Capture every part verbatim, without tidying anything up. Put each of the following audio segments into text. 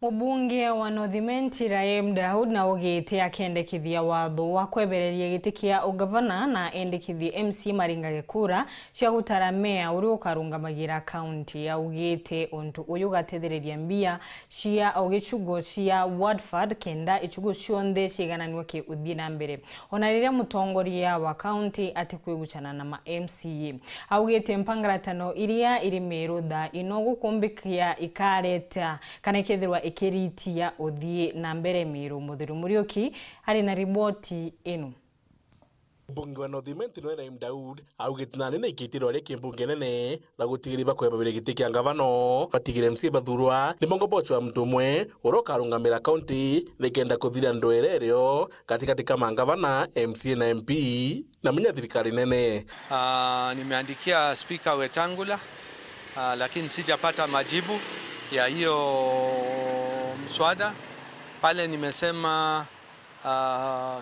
Mubunge wa North Imenti Raheem Daud na augite akendekithia watho wa kwebereria giti kia ugavana na endekithie M C A maringage kura cia gutara meya uria ukarungamagira kaunti. Augite untu uyu ugatethereria mbia cia o gicigo cia Watford kenda icigo cionthe ciigananua ki uthii na mbere. Ona riria mutongoria wa kaunti atikwigucana na ma M C A, augite mpangaratano iria iri Meru thaa ino gukumbikia ikareta kana ikethirwa ikiritia uthii na mbere Meru. Muthiru Muriuki ari na riboti ino. Mbunge wa North Imenti Noe Raheem Daud augite nani na ikitirwa ria kimbunge nene na gutigiria bakwebabiria giti kia ngavano, batigire M C A bathurwa ni bongo bochwa muntu umwe uria ukarungamira kaunti nikenda kuthira ndwere irio gatigati ka mangavana, M C A na M P na munya thirikari nene. Ah, nimeandikia Spika Wetangula, ah, lakini sijapata majibu ya hiyo mswada. Pale nimesema, ah,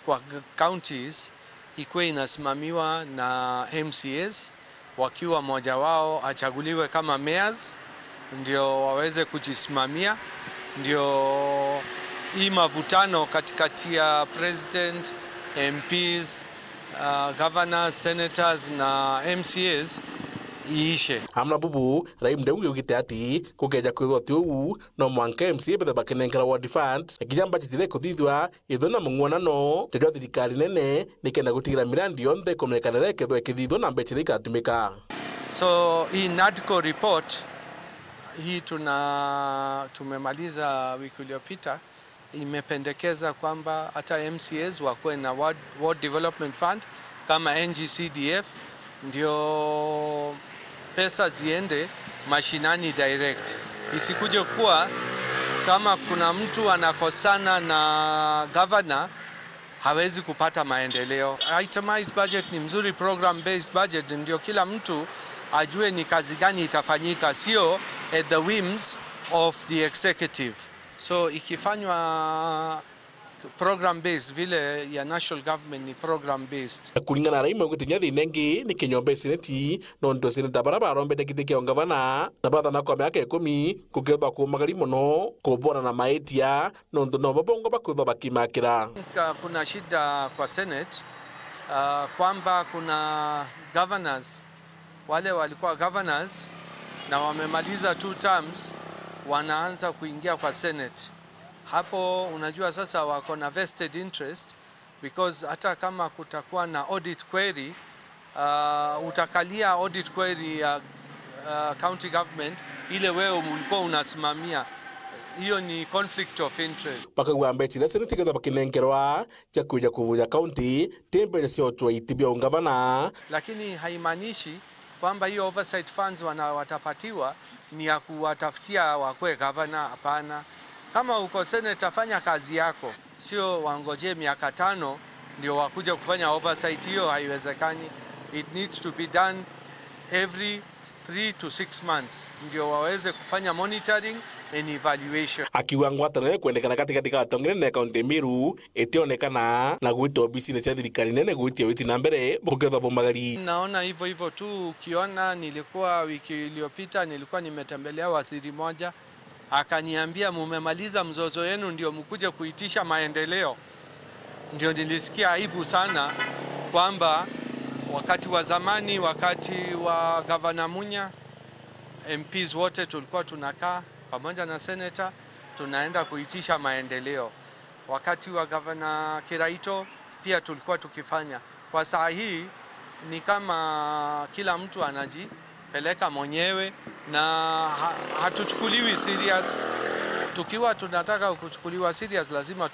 kwa g-, counties ikuwe inasimamiwa na M C As, wakiwa mmoja wao achaguliwe kama mayors, ndio waweze kujisimamia, ndio hii mavutano katikati ya president, M Ps, uh, governors, senators na M C As iishe. Amwe na bubu, Raheem Daud augite ati kukeja kwithwa ti uu, no mwanka M C A bethe bakinengera ward fund, na kinya budget iria ikuthithua ithwe na mung'uanano jwa thirikari nene, nikenda gutigira mirandi yonthe ikumenyekana iria ikethwa ikithithwa na mbecha iria igatumika. So, hii NADCO report, hii tuna-, tumemaliza wiki iliyopita, imependekeza kwamba hata M C As wakuwe na ward, ward development fund kama N G C D F, ndio pesa ziende mashinani direct. Isikuje kuwa kama kuna mtu anakosana na governor, hawezi kupata maendeleo. Itemized budget ni mzuri, program based budget ndio kila mtu ajue ni kazi gani itafanyika, sio at the whims of the executive. So ikifanywa program based vile ya national government ni program based. Kuringana na Raheem, augite kinya thina ingi ni kinyomba ya seneti, nontu seneta baria barombete giti kia ungavana na bathana kwa miaka ikumi kukethwa kumagari mono kubona na maitia, nontu nobo bongo bakwithwa bakimakira. Ka-, kuna shida kwa Senate, ah, kwamba kuna governors wale walikuwa governors na wamemaliza two terms, wanaanza kuingia kwa Senate. Hapo unajua sasa wako na vested interest, because hata kama kutakuwa na audit query, ah, utakalia audit query ya, ah, county government ile wewe ulikuwa unasimamia. Hiyo ni conflict of interest. Bakauga mbecha iria seneti ikethwa bakinenkerwa cia kwija kuvuja kaunti ti mbecha cia utwaiti bia ungavana. Lakini haimaanishi kwamba hiyo oversight funds wana-, watapatiwa ni ya kuwatafutia wakwe gavana, hapana. Kama uko senator, fanya kazi yako, sio wangojee miaka tano ndio wakuje kufanya oversight. Hiyo haiwezekani. It needs to be done every three to six months ndio waweze kufanya monitoring and evaluation. Akiuga ngwataniro ikwendekana gatigati ga atongeria na kaunti Meru itionekana na gwita obisine cia thirikari nene gwitia witi na mbere bukethwa bumagari. Naona hivyo hivyo tu, ukiona nilikuwa wiki iliyopita nilikuwa nimetembelea waziri moja, akaniambia, "Mumemaliza mzozo yenu ndio mkuje kuitisha maendeleo." Ndio nilisikia aibu sana kwamba wakati wa zamani, wakati wa Gavana Munya, M Ps wote tulikuwa tunakaa pamoja na senator, tunaenda kuitisha maendeleo. Wakati wa Gavana Kiraito pia tulikuwa tukifanya. Kwa saa hii ni kama kila mtu anajipeleka mwenyewe na ha-, hatuchukuliwi serious. Tukiwa tunataka kuchukuliwa serious, lazima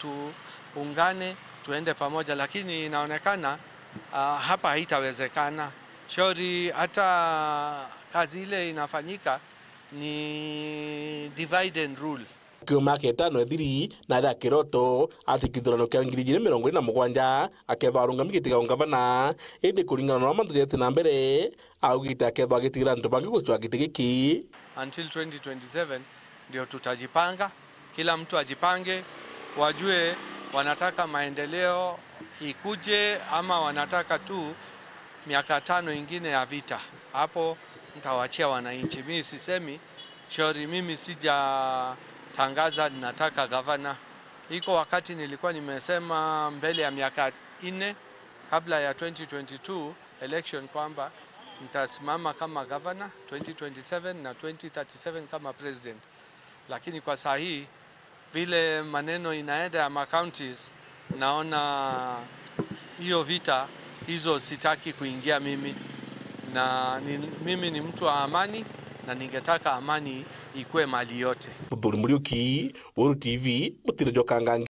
tuungane, tuende pamoja, lakini inaonekana, ah, hapa haitawezekana. Shauri hata kazi ile inafanyika ni divide and rule. Kiumia kia itano ithiri, na aria Kiroto ati kithurano kia ngiri igiri mirongo iri na mugwanja akethwa arungami giti gia ungavana, indi kuringana na uria mantu jathite na mbere, augite akethwa agitigira antu bangi gucwa giti giki. Until twenty twenty-seven ndio tutajipanga, kila mtu ajipange, wajue wanataka maendeleo ikuje ama wanataka tu miaka tano ingine ya vita. Hapo nitawachia wananchi. Mimi sisemi shauri, mimi sija, tangaza ninataka gavana. Iko wakati nilikuwa nimesema mbele ya miaka nne kabla ya twenty twenty-two election kwamba nitasimama kama gavana twenty twenty-seven na twenty thirty-seven kama president, lakini kwa saa hii vile maneno inaenda ya ma counties, naona hiyo vita hizo sitaki kuingia mimi, na ni, mimi ni mtu wa amani na ningetaka amani ikue mali yote. Muthuri Muriuki, Weru T V, Mutire Jokanga.